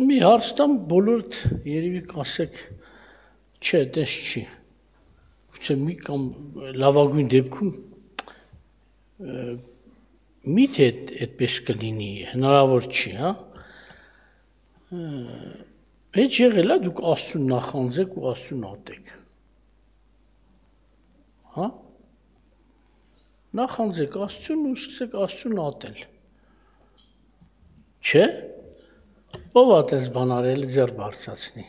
Մի հարցտամ բոլորդ երևի կասեք, չէ, դες չի, գուցե մի կամ լավագույն դեպքում միթե այդպես կլինի, հնարավոր չի, հա, հետ եղել է դուք Աստծուն նախանձեք ու Աստծուն ատեք, հա, նախանձեք Աստծուն ու սկսեք Աստծուն ատել, չէ, ով ատես բան արել ձեռ բարձրացնի,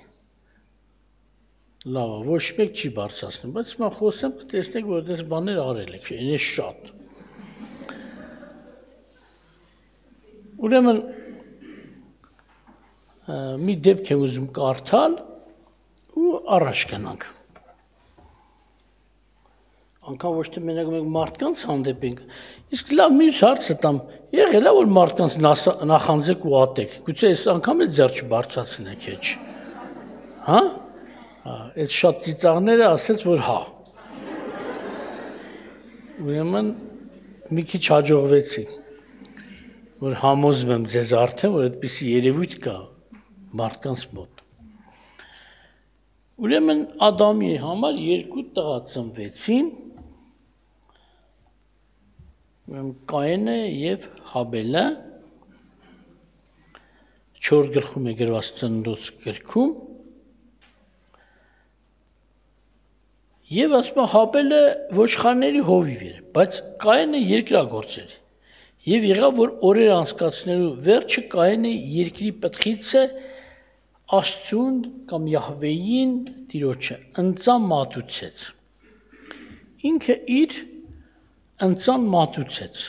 լավ, ոչ մեկ չի բարձրացնում, բայց հիմա խոսեմ կտեսնեք, որ այդպես բաներ արել եք, այն է շատ, ուրեմն մի դեպք եմ ուզում կարդալ ու առաջ գնանք, անգամ ոչ թե մենակ մենք մարդկանց հանդեպ ենք, իսկ լավ մյուս հարցը տամ, եղել է որ մարդկանց նախանձեք ու ատեք, գուցե այս անգամ էլ ձեռ չբարձրացնեք հեչ, հա, այդ շատ ծիծաղները ասեց, որ հա, ուրեմն մի քիչ հաջողվեցի, որ համոզվեմ ձեզ արդեն, որ այդպիսի երևույթ կա մարդկանց մոտ, ուրեմն Ադամի համար երկու տղա ծնվեցին, Կայենը և Հաբելը 4 գլխում է գրված ծննդոց գրքում և ասում Հաբելը ոչխարների հովիվ էր, բայց Կայենը երկրագործ էր և եղավ, որ օրեր անցկացնելու վերջը Կայենը երկրի պտղիցը Աստծուն կամ Յահվեին Տիրոջը ընծան մատուցեց, ինքը իր ընծան մատուցեց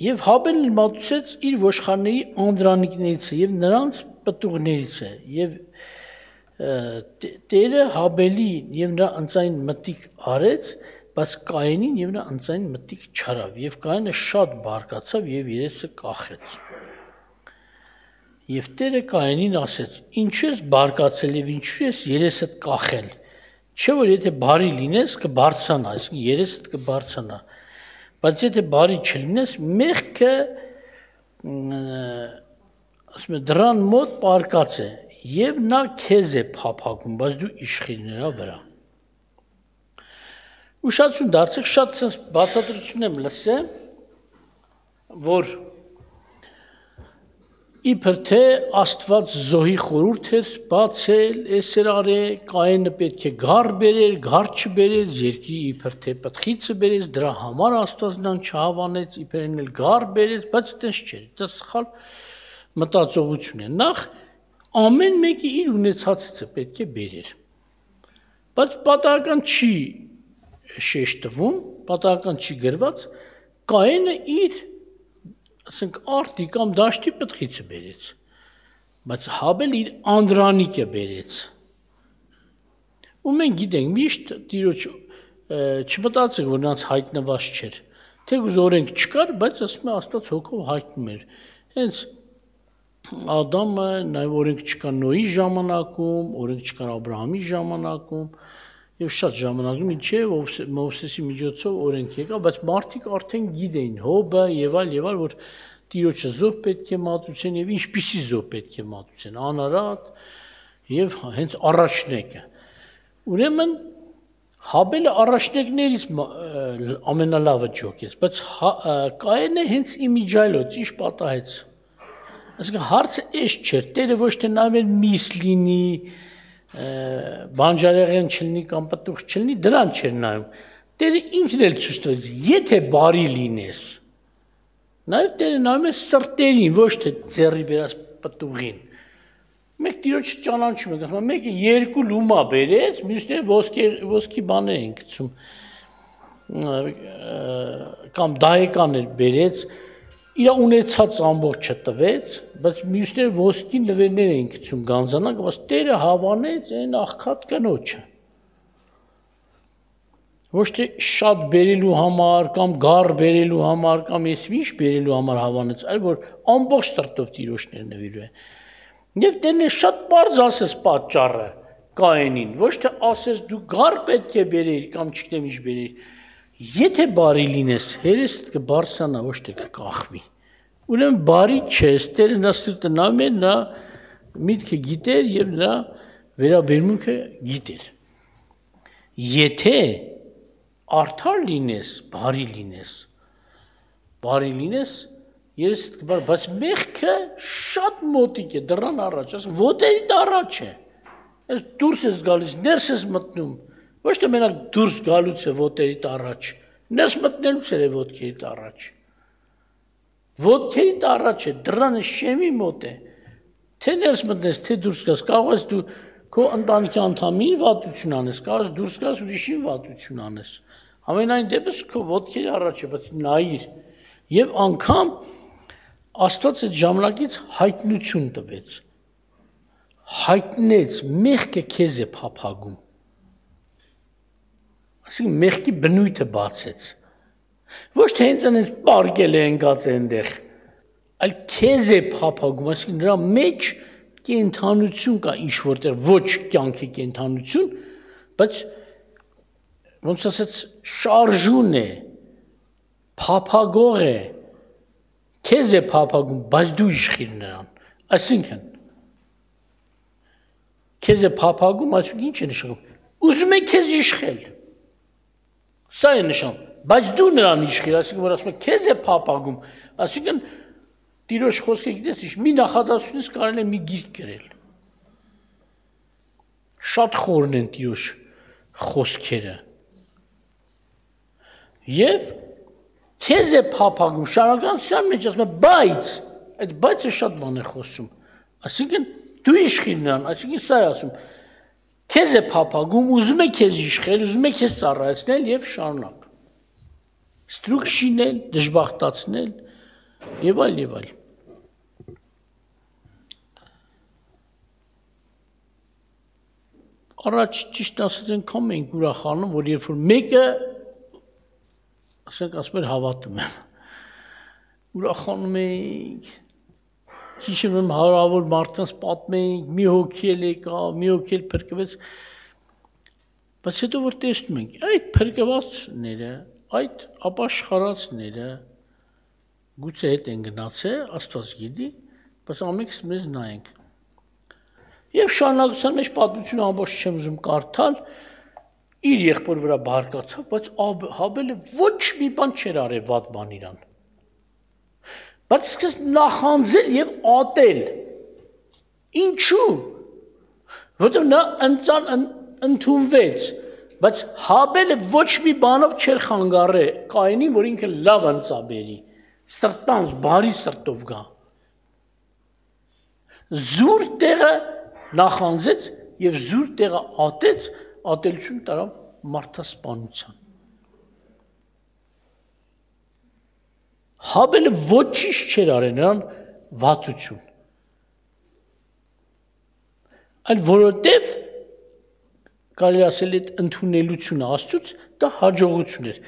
և Հաբելն մատուցեց իր ոչխարների անդրանիկներից և նրանց պտուղներից և Տերը Հաբելին և նրա ընծային մտիկ արեց, բայց Կայենին և նրա ընծային մտիկ չարավ և Կայենը շատ բարկացավ և երեսը կախեց և Տերը Կայենին ասեց, ինչու ես բարկացել և ինչու ես երեսդ կախել, չէ որ եթե բարի լինես կբարձրանա, այսինքն երեսդ կբարձրանա, բայց եթե բարի չլինես մեղքը ասում է դռան մոտ պարկած է և նա քեզ է փափագում, բայց դու իշխիր նրա վրա։ Ուշադրություն դարձեք, շատ բացատրություն եմ լսել, որ իբր թե Աստված զոհի խորհուրդ էր բացել, էս էր արել, Կայենը պետք է գառ բերեր, գառ չբերեց, երկրի իբր թե պտղիցը բերեց, դրա համար Աստված նրան չհավանեց, իբր էլ գառ բերեց, բայց այդպես չէր, դա սխալ մտածողություն է։ Նախ ամեն մեկը իր ունեցածը պետք է բերեր, բայց պատահական չի շեշտվում, պատահական չի գրված, Կայենը իր ասենք արդի կամ դաշտի պտղիցը բերեց, բայց Հաբելը իր անդրանիկը բերեց, ու մենք գիտենք միշտ Տիրոջ չմտածեք, որ նրանց հայտնված չէր, թեկուզ օրենք չկար, բայց ասում է Աստված հոգով հայտնում էր, հենց Ադամը նաև օրենք չկար Նոյի ժամանակում, օրենք չկար Աբրահամի ժամանակում, և շատ ժամանակում ինչև Մովսեսի միջոցով օրենք եկա, բայց մարդիկ արդեն գիտեին Հոբը և այլ, որ Տիրոջը զոհ պետք է մատուցեն և ինչպիսի զոհ պետք է մատուցեն, անարատ և հենց առաջնեկը։ Ուրեմն Հաբելը առաջնեկներից ամենալավը ջոկեց, բայց Կայենը հենց իմիջայլոց ինչ պատահեց։ Այսինքն հարցը էս չէր, Տերը ոչ թե նայում էր միս լինի, բանջարեղեն չլինի կամ պտուղ չլինի, դրան չէր նայում, Տերը ինքն էլ ցույց տվեց, եթե բարի լինես, նաև Տերը նայում է սրտերին, ոչ թե ձեռի բերած պտուղին, մենք Տիրոջը ճանաչում ենք, ասում մեկը 2 լումա բերեց, մյուսները ոսկի բաներ են գցում, կամ դահեկաներ բերեց, իր ունեցած ամբողջը տվեց, բայց մյուսները ոսկի նվերներ էին գցում գանձանակ, բայց Տերը հավանեց այն աղքատ կնոջը։ Ոչ թե շատ բերելու համար, կամ գառ բերելու համար, կամ ես ինչ բերելու համար հավանեց, այլ որ ամբողջ սրտով Տիրոջն էր նվիրում։ Եվ Տերն շատ պարզ ասեց պատճառը Կայենին, ոչ թե ասես դու գառ պետք է բերեիր կամ չգիտեմ ինչ բերեիր, եթե բարի լինես, հերեսդ կբարձրանա, ոչ թե կկախվի։ Ուրեմն բարի չէ, Տերը նրա սիրտը նայում էր, նրա միտքը գիտեր եւ նրա վերաբերմունքը գիտեր։ Եթե արդար լինես, բարի լինես, ես կբար, բայց մեղքը շատ մոտիկ է դռան առաջ, ասում ոտերիդ առաջ է։ Ես դուրս ես գալիս, ներս ես մտնում, ոչ թե մենակ դուրս գալուց է ոտերիդ առաջ, ներս մտնելուց է ոտքերիդ առաջ։ Ոտքերիդ առաջ է, դռանը շեմի մոտ է։ Թե ներս մտնես, թե դուրս գաս, կարող ես դու քո ընտանիքի անդամին վատություն անես, կարող ես դուրս գաս ուրիշին վատություն անես։ Ամենայն դեպս քո ոտքերի առաջ է, բայց նայիր։ Եվ անգամ Աստված այդ ժամանակից հայտնություն տվեց։ Հայտնեց, մեղքը քեզ է փափագում։ Այսինքն մեղքի բնույթը բացեց։ Ոչ թե հենց այնպես պարկել է ընկած այնտեղ, այլ քեզ է փափագում, այսինքն նրա մեջ կենթանություն կա ինչ որտեղ, ոչ կյանքի կենթանություն, բայց ոնց ասած շարժուն է, փափագող է, քեզ է փափագում, բայց դու իշխիր նրան, այսինքն քեզ է փափագում, այսինքն ինչ է նշանակում, ուզում է քեզ իշխել, սա է նշանակում, բայց դու նրան իշխիր, այսինքն որ ասում է քեզ է փափագում, այսինքն Տիրոջ խոսքը գիտես ինչ, մի նախադասությունից կարելի է մի գիրք գրել։ Շատ խորն են Տիրոջ խոսքերը։ Եվ քեզ է փափագում, շարունակության մեջ ասում է, բայց այդ բայցը շատ բան է խոսում։ Այսինքն դու իշխիր նրան, այսինքն սա է ասում, քեզ է փափագում, ուզում է քեզ իշխել, ուզում է քեզ ծառայեցնել եւ շարունակ։ Ստրուկ շինել, դժբախտացնել եւ այլ եւ այլ։ Առաջ ճիշտ ասած այնքան մենք ուրախանում, որ երբ որ մեկը ասենք ասում էր հավատում եմ, ուրախանում ենք, քիչ հարավոր մարդկանց պատմենք, մի հոգի էլ եկա, մի հոգի էլ փրկվեց, բայց հետո որ տեսնում ենք, այդ փրկվածները, այդ ապաշխարածները գուցե հետ են գնացել, Աստված գիտի, բայց ամենքս մեզ նայենք։ Եվ շարունակության մեջ պատմությունը ամբողջ չեմ ուզում կարդալ, իր եղբոր վրա բարկացավ, բայց Հաբելը ոչ մի բան չէր արել վատ բան իրան։ Բայց սկսեց նախանձել եւ ատել։ Ինչու՞։ Որտեղ նա ընդունվեց, բայց Հաբելը ոչ մի բանով չէր խանգարել Կայենին, որ ինքը լավ ընծաբերի, սրտանց բարի սրտով գա։ Զուր տեղը նախանձեց եւ զուր տեղը ատեց, ատելություն տարավ մարդասպանության։ Հաբելը ոչինչ չէր արել նրան վատություն։ Այլ որովհետև կարելի ասել այդ ընդունելությունը Աստծուց դա հաջողություն էր։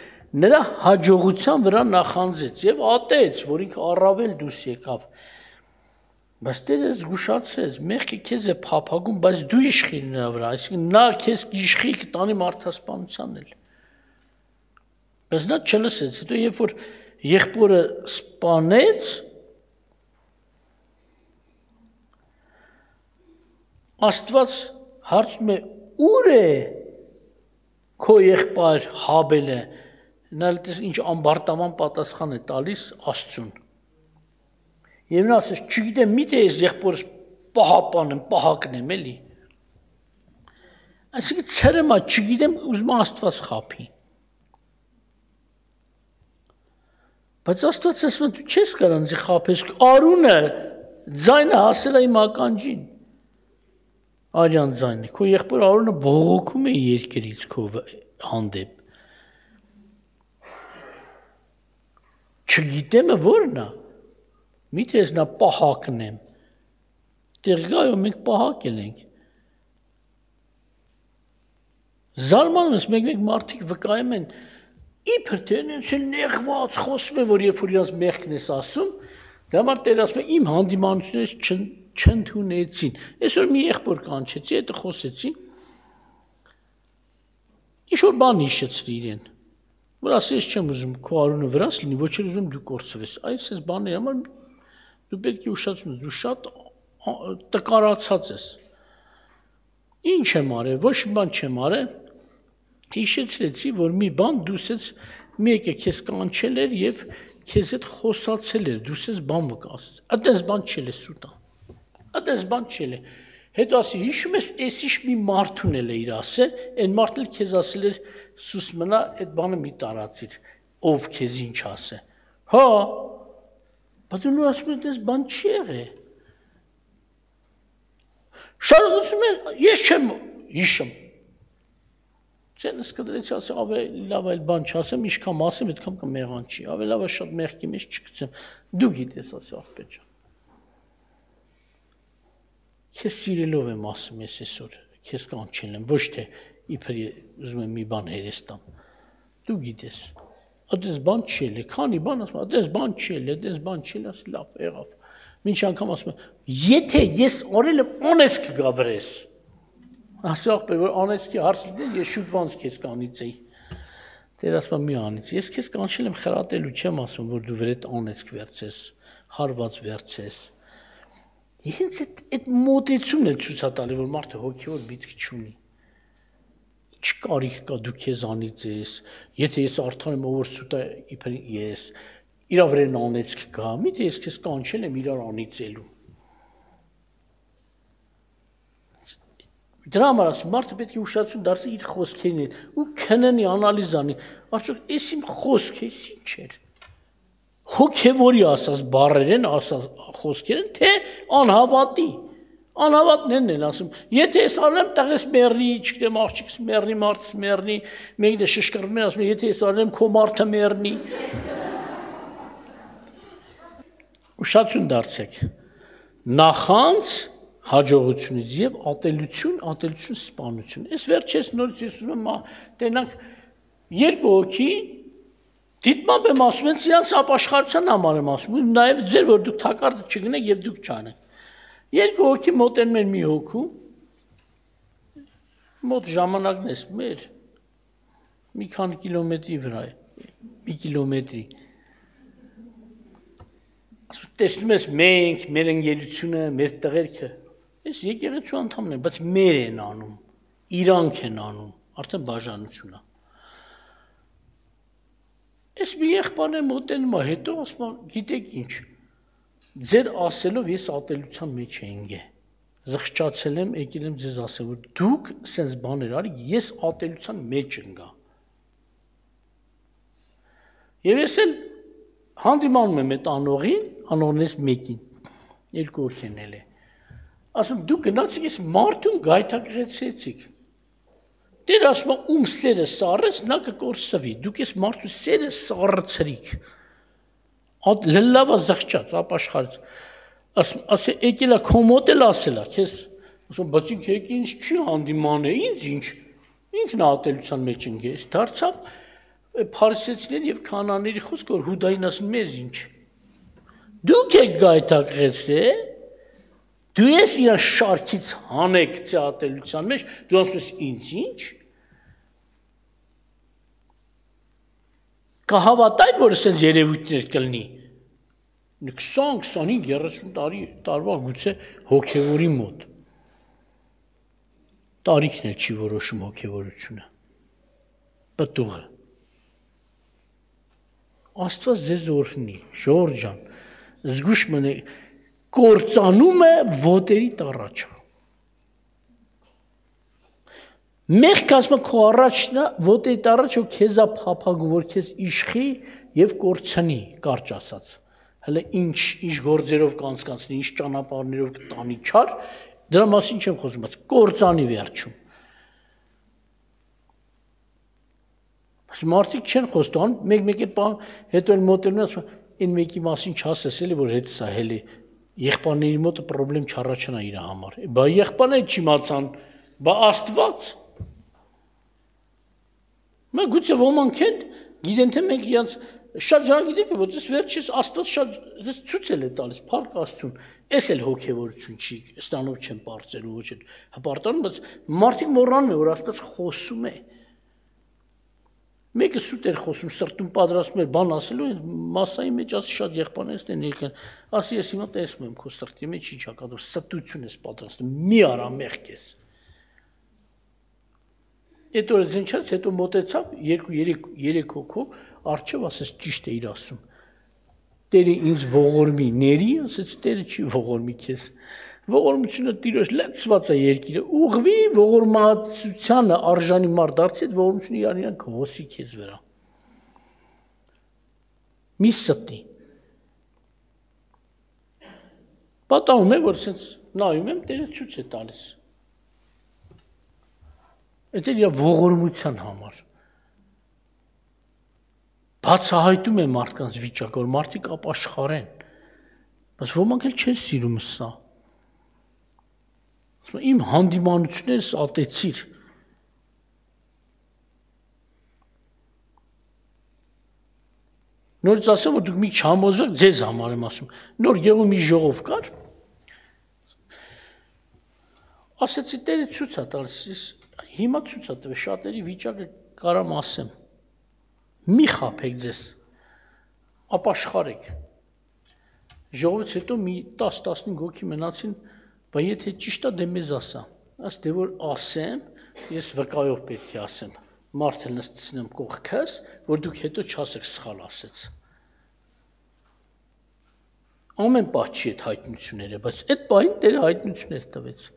Նրա հաջողության վրա նախանձեց եւ ատեց, որ ինքը առավել դուրս եկավ։ Բայց Տերը զգուշացրեց, մեղքը քեզ է փափագում, բայց դու իշխիր նրա վրա, այսինքն նա քեզ իշխի կտանի մարդասպանության էլ։ Բայց նա չլսեց, հետո երբ որ եղբորը սպանեց, Աստված հարցնում է, ուր է քո եղբայր Հաբելը, նա ինչ ամբարտաման պատասխան է տալիս Աստծուն։ Եվ նա ասես, չգիտեմ, միթե ես եղբորս պահապանեմ, պահակնեմ էլի։ Այսինքն ցրմա, չգիտեմ, ուզում Աստված խափի։ Բայց Աստված ասում է, դու չես կարող ինձ խափես, Արունը ձայնը հասել է իմ ականջին։ Արյան ձայնը, քո եղբոր Արունը բողոքում է երկրից քո հանդեպ։ Չգիտեմ ո՞րն է։ Միթե ես նա պահակնեմ։ Տեղ գայո մենք պահակել ենք։ Զարմանում ես, մեկ մարդիկ վկայում են, իբր թե նենց էլ նեղված խոսում է, որ երբ որ իրանց մեղքն ես ասում, դա համար Տերը ասում է, իմ հանդիմանությունից չընդունեցին։ Այսօր մի եղբոր կանչեցի, հետո խոսեցի, ինչ-որ բան հիշեցրի իրեն, որ ասի, ես չեմ ուզում քո Արունը վրաս լինի, ոչ էլ ուզում դու կորցվես, այս բաների համար Դու պետք է ուշացնես, դու շատ տկարացած ես։ Ինչ եմ արել, ոչ մի բան չեմ արել։ Հիշեցրեցի, որ մի բան դու ասես մեկը քեզ կանչել էր եւ քեզ հետ խոսացել էր, դու ասես բան վկասես։ Այդպես բան չել է սուտա։ Այդպես բան չել է։ Հետո ասի, հիշում ես, էսիշ մի մարդուն էլ է իր ասել, այն մարդն էլ քեզ ասել էր, սուս մնա, այդ բանը մի տարածիր, ով քեզ ինչ ասե։ Հա, բայց դու ասում ես, այս բան չի եղել։ Շատ ասում ես, ես չեմ հիշում։ Ձենս կդրեցի ասի, ավելի լավ այլ բան չասեմ, ինչքան ասեմ, այդքան կմեղան չի, ավելի լավ է շատ մեղքի մեջ չգցեմ, դու գիտես, ասի աղբետ ջան։ Քեզ սիրելով եմ ասում ես այսօր, քեզ կանչել եմ, ոչ թե իբր ուզում եմ մի բան հերես տամ, դու գիտես, այդպես բան չել է, քանի բան ասում, այդպես բան չել է, այդպես բան չել, ասի լավ, եղավ, մինչ անգամ ասում եմ, եթե ես օրել եմ, անես կգա վրես, ասի աղբեր, որ անեցքի հարց լինի, ես շուտվանց քեզ կանից էի, դեր ասում մի անից, ես քեզ կանչել եմ խրատելու չեմ ասում, որ դու վրետ անեցք վերցես, հարված վերցես, Հենց այդ մոտեցումն է ցույց տալի, որ մարդը հոգևոր միտք չունի։ Ինչ կարիք կա դու քեզանից ես, եթե ես արդեն եմ ով սուտ է իբր ես, իրա վրան անեցք կա, միթե ես քեզ կանչել եմ իրար անիծելու։ Դրա համար ասում մարդը պետք է ուշադրություն դարձի իր խոսքերին ու քննի, անալիզ անի, արդյոք էս իմ խոսքը ինչ էր։ Հոգևորի ասած բառեր են, ասած խոսքեր են, թե անհավատի։ Անհավատներն են ասում, եթե ես արեմ տղես մեռնի, չգիտեմ աղջիկս մեռնի, մարդս մեռնի, մեկն է շշկռվում են ասում, եթե ես արեմ քո մարդը մեռնի։ Ուշադրություն դարձեք։ Նախանց հաջողությունից եւ ատելություն սպանություն։ Այս վերջերս նորից ես ուզում եմ տենանք երկու հոգի դիտմամբ եմ ասում են իրանց ապաշխարության համար եմ ասում, նաև ձեր որ դուք թակարդը չգնեք եւ դուք չանեք։ Երկու հոգի մոտենում են մի հոգու, մոտ ժամանակն է մեր մի քանի կիլոմետրի վրա է, մի կիլոմետրի։ Ասում տեսնում ես մենք, մեր ընկերությունը, մեր տղերքը, այս եկեղեցու անդամն են, բայց մեր են անում, իրանք են անում, արդեն բաժանություն է։ Ես մի եղբայրն եմ մոտենում է, հետո ասում եմ, գիտեք ինչ, ձեր ասելով ես ատելության մեջ էինք, զղջացել եմ, եկել եմ ձեզ ասել, որ դուք սենց բաներ արիք, ես ատելության մեջ ընկա։ Եվ ես էլ հանդիմանում եմ այդ անողին, անողներից մեկին, երկու հոգենել է, ասում դուք գնացիք ես մարդուն գայթակղեցեցիք, Դեր ասում եմ, ում սերը սառեց, նա կկորսվի, դուք ես մարդու սերը սառցրիք, լլավա զղջաց, ապաշխարեց, ասե եկել է քոմոտ էլ ասել է, քեզ, ասում բայց ինք եք ինձ չի հանդիման է, ինձ ինչ, ինքն ատելության մեջ ընկես, դարձավ փարիսեցիներ և քանանների խոսք, որ հուդային ասում մեզ ինչ, դուք եք գայթակղեցրել, դու ես իրան շարքից հանեք ատելության մեջ, դու ասում ես ինձ ինչ, կհավատային, որ ասենց երևույթներ կլնի, 20-25-30 տարվա գուցե հոգևորի մոտ, տարիքն էլ չի որոշում հոգևորությունը, պտուղը, Աստված ձեզ օրհնի, Ժորժ ջան, զգուշ մնեք, կործանում է ոտերի տառաչը, Մեղք ասում քո առաջնա ոտերի տառաչը քեզա փափագու, որ քեզ իշխի և կորցնի, կարճ ասած, հələ ինչ գործերով կանցկացնի, ինչ ճանապարհներով կտանի չար, դրա մասին չեմ խոսում, բայց կործանի վերջում։ Մարդիկ չեն խոստանում, մեկ է բան, հետո էլ մոտենում ասում, այն մեկի մասին չասես էլի, որ հետ սահել է, եղբայրների մոտը պրոբլեմ չառաջանա իր համար։ Բա եղբայրները չիմացան, բա Աստված։ Մենք գուցե ոմանք են, գիտեն թե մենք իրանց շատ ժանակ գիտեք, որ ես վերջից Աստված շատ ցույց է տալիս, փառք Աստծուն, էս էլ հոգևորություն չի, ստանով չեմ բարձելու ոչ էլ հպարտանում, բայց մարդիկ մոռանում են, որ Աստված խոսում է։ Մեկը սուտ էր խոսում, սրտում պատրաստում էր բան ասելու, մասայի մեջ ասի շատ եղբայրներից են եկան, ասի ես հիմա տեսնում եմ քո սրտի մեջ ինչ ակադով, ստություն ես պատրաստում, մի արա մեղք ես։ Այդ օրը զենչած հետո մոտեցավ 2-3 հոգով առջև ասես ճիշտ է իր ասում։ Տերը ինձ ողորմի ների, ասեց Տերը չի ողորմի քեզ։ Ողորմությունը Տիրոջ լցված է երկիրը, ուղղվի ողորմածությանը արժանի մարդ դարձի, այդ ողորմությունը իրան կհոսի քեզ վրա։ Մի ստի։ Պատահում է, որ ասենց նայում եմ, Տերը ցույց է տալիս։ Այդ իր ողորմության համար։ Բացահայտում է մարդկանց վիճակը, որ մարդիկ ապաշխարեն, բայց ոմանք էլ չեն սիրում սա։ Իմ հանդիմանություններս ատեցիր։ Նորից ասեմ, որ դուք մի չհամոզվեք, ձեզ համար եմ ասում։ Նոր Գեղում մի ժողով կար, ասեցի Տերը ցույց է տալիս, հիմա ցույց է տվել, շատերի վիճակը կարամ ասեմ։ Մի խաբեք ձեզ, ապաշխարեք։ Ժողովից հետո մի 10-15 հոգի մնացին, բայց եթե ճիշտ է դե մեզ ասա, ասես դե որ ասեմ, ես վկայով պետք է ասեմ, մարդը նստեցնեմ կողքս, որ դուք հետո չասեք սխալ ասեց։ Ամեն պահ չի այդ հայտնությունները, բայց այդ պահին Տերը հայտնություններ տվեց։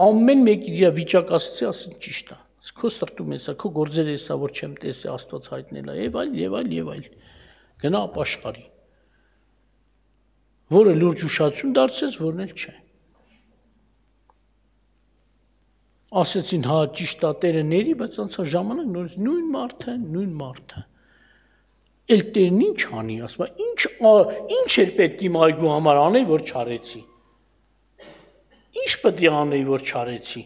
Ամեն մեկի իր վիճակ ասեցի, ասին ճիշտ է։ Քո սրտում է սա, քո գործերը է սա, որ չեմ տեսել, Աստված հայտնել է, եւ այլ։ Գնա ապաշխարի։ Որը լուրջ ուշադրություն դարձեց, որն էլ չէ։ Ասեցին, հա, ճիշտ է Տերը ների, բայց անցա ժամանակ նորից նույն մարդը։ Էլ Տերն ինչ անի, ասում է, ինչ էր պետք իմ այգու համար անեի, որ չարեցի։ Ինչ պետք է անեի, որ չարեցի։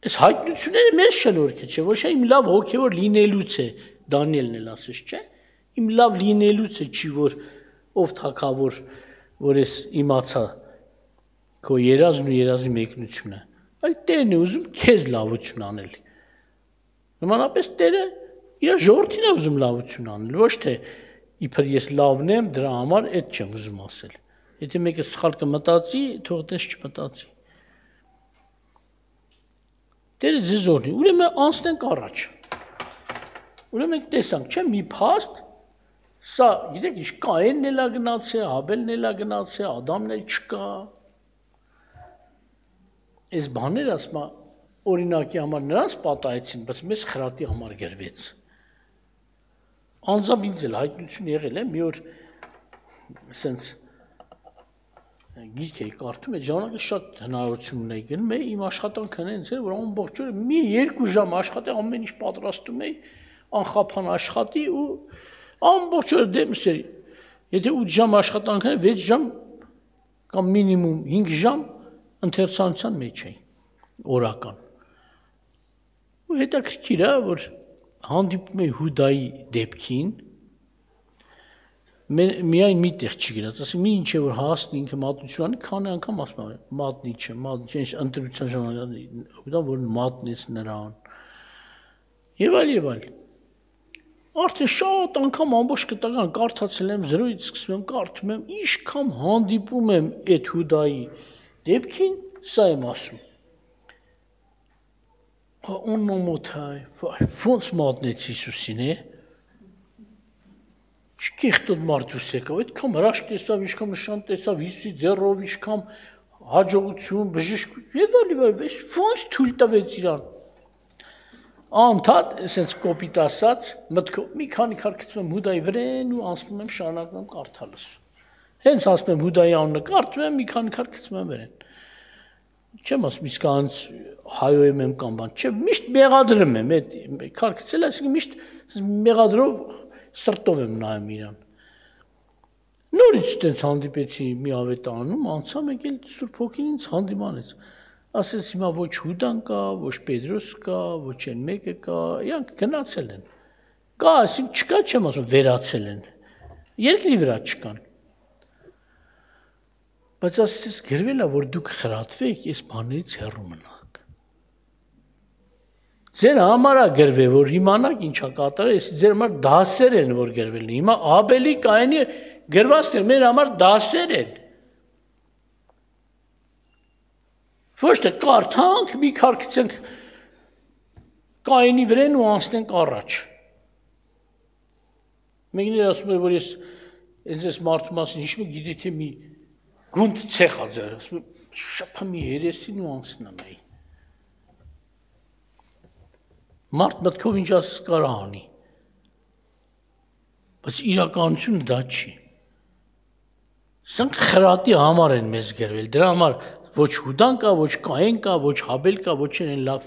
Այս հայտնությունները մեզ շնորհք է, չէ՞ ոչ իմ լավ հոգևոր լինելուց է, Դանիելն էլ ասեց, չէ՞։ Իմ լավ լինելուց է, չի որ ով թագավոր, որ ես իմացա քո երազն ու երազի մեկնությունը։ Այլ Տերն է ուզում քեզ լավություն անել։ Նմանապես Տերը իր ժողովրդին է ուզում լավություն անել, ոչ թե իբր ես լավն եմ, դրա համար այդ չեմ ուզում ասել։ Եթե մեկը սխալ կմտածի, թող դες չմտածի։ Տերը ձեզ օրհնի։ Ուրեմն անցնենք առաջ։ Ուրեմն տեսանք, չէ՞, մի փաստ, սա, գիտեք, ինչ Կայենն էլ է գնացել, Հաբելն էլ է գնացել, Ադամն էլ չկա։ Այս բաները ասма օրինակի համար նրանց պատահեցին, բայց մեզ խրատի համար գրվեց։ Անձամբ ինձ էլ հայտնություն եղել է, մի օր սենց գիրք էի կարդում, այդ ժամանակ շատ հնարավորություն ունեի գնում էի, իմ աշխատանքը հենց էր, որ ամբողջ օրը մի 2 ժամ աշխատի, ամեն ինչ պատրաստում էի, անխափան աշխատի ու ամբողջ օրը դեմս էր։ Եթե 8 ժամ աշխատանքն էր, 6 ժամ կամ մինիմում 5 ժամ ընթերցանության մեջ էի, օրական։ Ու հետաքրքիր է, որ հանդիպում էի Հուդայի դեպքին, միայն մի տեղ չի գրած, ասում մի ինչ է որ հասնի ինքը մատնություն անի, քանի անգամ ասում է մատնի չէ, ընտրության ժամանակ որ մատնեց նրան։ Եվ այլ։ Արդեն շատ անգամ ամբողջ կտական կարդացել եմ, զրոյից սկսում եմ կարդում եմ, ինչքան հանդիպում եմ այդ Հուդայի դեպքին, սա եմ ասում։ Օնոմոթայ, ոնց մատնեց Հիսուսին է։ Շքիխտոտ մարդուս եկավ, այդքան հրաշք տեսավ, ինչքան նշան տեսավ, Հիսուսի ձեռով, ինչքան հաջողություն, բժշկություն, եւ ոնց թույլ տվեց իրան։ Անդադ, այսպես կոպիտ ասած, մտքով մի քանի քար գցում եմ Հուդայի վրեն ու անցնում եմ շարունակում եմ կարդալուս։ Հենց ասում եմ Հուդայի անունը կարդում եմ, մի քանի քար գցում եմ վրեն։ Չեմ ասում իսկ անց հայոյում եմ կամ բան, չէ, միշտ մեղադրում եմ, այդ քար գցել, այսինքն միշտ մեղադրով սրտով եմ նայում իրան։ Նորից այդպես հանդիպեցի մի ավետարանում, անցա մեկ էլ Սուրբ Հոգին ինձ հանդիմանեց։ Ասես հիմա ոչ Հուդան կա, ոչ Պետրոս կա, ոչ այն մեկը կա, իրանք գնացել են։ Կա, այսինքն չկա, չեմ ասում, վերացել են։ Երկրի վրա չկան։ Բայց ասես գրվել է, որ դուք խրատվեք, այս բաներից հեռու մնաք։ Ձեր համար է գրվել, որ իմանաք ինչա կատարել, իսկ ձեր համար դասեր են, որ գրվել են։ Հիմա Աբելի Կայանի գրվածքները մեր համար դասեր են։ Ոչ թե կարդանք, մի քարքցենք Կայանի վրան ու անցնենք առաջ։ Մեկներ ասում են, որ ես այս մարդու մասին հիշում եմ, գիտի թե մի գունդ ցեխ ա ձեր, ասում եմ, շփա մի երեսին ու անցնեմ այ։ Մարդ մտքով ինչ ասես կարա անի։ Բայց իրականությունը դա չի։ Սրանք խրատի համար են մեզ գրվել, դրա համար ոչ Հուդան կա, ոչ Կայեն կա, ոչ Հաբել կա, ոչ են լավ